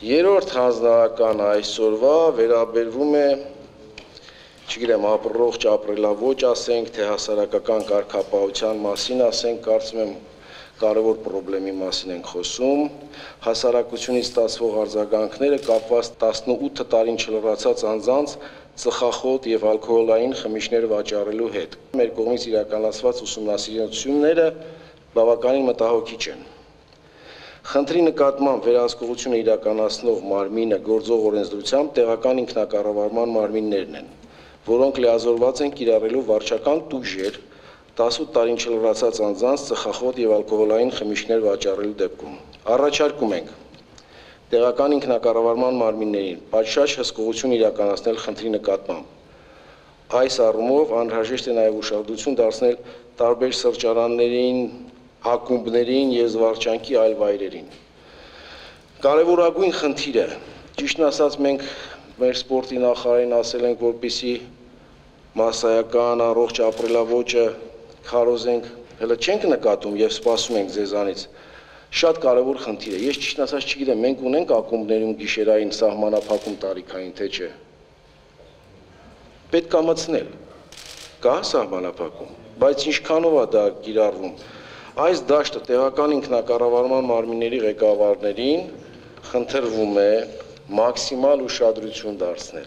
Երրորդ հանձնարարականը այսօրվա վերաբերվում է, չգիտեմ, առողջ ապրելաոճ ասենք, թե հասարակական կարգապահության մասին ասենք, կարծում եմ կարևոր խնդրի մասին ենք խոսում, հասարակությունից ստացվող արձագանքները կապված 18 տարին չլրացած անձանց ծխախոտ եւ ալկոհոլային խմիչքներ վաճառելու հետ։ Մեր կողմից իրականացված ուսումնասիրությունները բավականին մտահոգիչ են։ Խնդրի նկատմամբ վերահսկողությունը իրականացնող մարմինը գործող օրենսդրությամբ տեղական ինքնակառավարման մարմիններն են, որոնք լիազորված են կիրառելու վարչական տուժեր 18 տարին չլրացած անձանց ծխախոտ եւ ալկոհոլային խմիչքներ վաճառելու դեպքում։ Առաջարկում ենք տեղական ինքնակառավարման մարմիններին պատշաճ հսկողություն իրականացնել խնդրի նկատմամբ։ Այս առումով անհրաժեշտ է նաեւ ուշադրություն դարձնել տարբեր սրճարաններին, ակումբներին եւ զվարճանքի այլ վայրերին։ Կարևորագույն խնդիրը, ճիշտն ասած, մենք մեր սպորտի նախարարին ասել ենք, որպեսզի մասսայական առողջ ապրելաոճը քարոզենք, հələ չենք նկատում եւ սպասում ենք ձեզանից։ Շատ կարևոր խնդիր է։ Ես ճիշտն ասած չգիտեմ, մենք ունենք ակումբներում գիշերային սահմանափակում տարիքային, թե չէ։ Պետք է մտցնել։ Կա սահմանափակում, բայց ինչքանով է դա կիրառվում։ Այս դաշտը տեղական ինքնակառավարման մարմինների ղեկավարներին խնդրվում է մաքսիմալ ուշադրություն դարձնել։